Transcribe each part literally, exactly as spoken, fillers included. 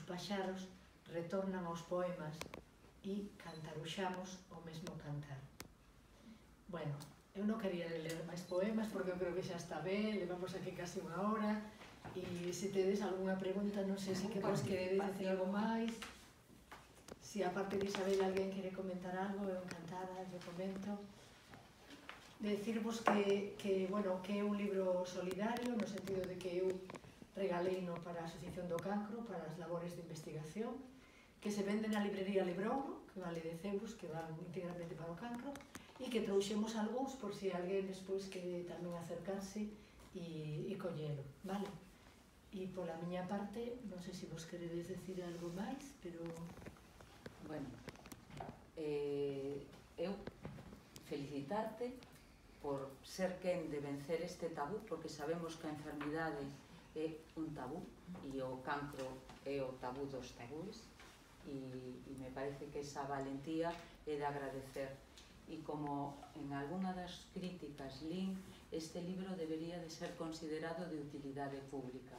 paxaros retornan aos poemas e cantaruxamos o mesmo cantar. Bueno, eu non quería ler máis poemas porque eu creo que xa está ben, levamos aquí casi unha hora, e se tedes algunha pregunta, non sei se que vos queredes decir algo máis. Se aparte de Isabel alguén quere comentar algo, eu encantada, eu comento. Decirvos que, que, bueno, que é un libro solidario, no sentido de que eu regaleino para a Asociación do Cancro, para as labores de investigación, que se vende na librería Librouro, que vale dez euros, que van íntegramente para o cancro, e que trouxemos algúns por se alguén despois quere tamén acercarse e, e collelo, vale? E pola miña parte, non sei se vos queredes decir algo máis, pero... Bueno, eh, eu felicitarte por ser quen de vencer este tabú, porque sabemos que a enfermidade é un tabú e o cancro é o tabú dos tabúes, e, e me parece que esa valentía é de agradecer. E como en algunha das críticas lín, este libro debería de ser considerado de utilidade pública.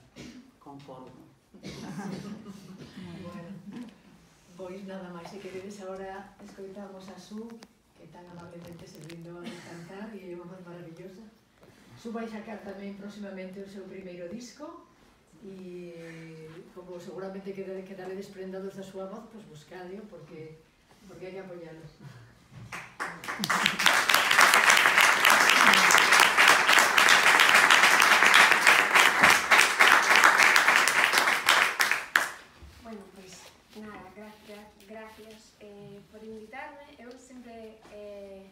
Concordo. Bueno, pois nada máis, se queredes agora escoitamos a Su, que tan amablemente se brindou a cantar e é unha voz maravillosa. Su vai sacar tamén próximamente o seu primeiro disco e como seguramente quedaredes prendados da súa voz, pois buscadeo porque porque hai que apoialos. Bueno, pois nada, gracias, gracias eh, por invitarme. Eu sempre, eh,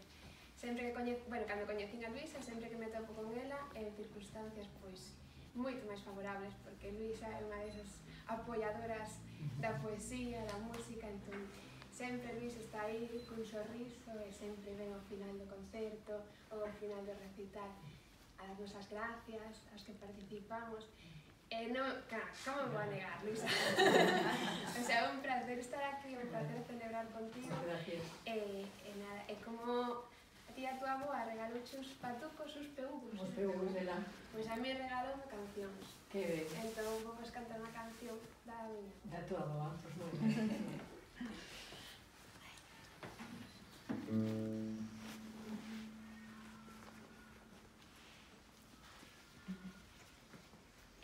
sempre que coñezo, bueno, cando coñecín a Luisa, sempre que me topo con ela, en circunstancias pois moito máis favorables, porque Luisa é unha desas apoiadoras da poesía, da música, entón sempre Luisa está aí cun sorriso e sempre ven ao final do concerto ou ao final do recital a darnos as gracias, aos que participamos. E non, claro, como me vou a negar, Luisa? O sea, é un placer estar aquí, é un placer celebrar contigo. Gracias. E, e nada, é como a ti a tua aboa regalouche os patucos, os peugos. Os peugos dela. Pois a mí regalou cancións. Que ben. Entón, vou vos cantar unha canción da miña. Da tua aboa, pois moi ben.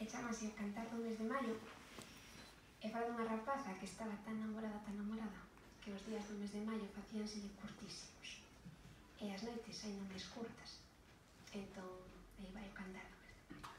E chamase A cantar do mes de maio e fala dunha rapaza que estaba tan namorada, tan namorada que os días do mes de maio facíanselle curtísimos e as noites ainda máis curtas. Entón, aí vai o cantar do mes de maio.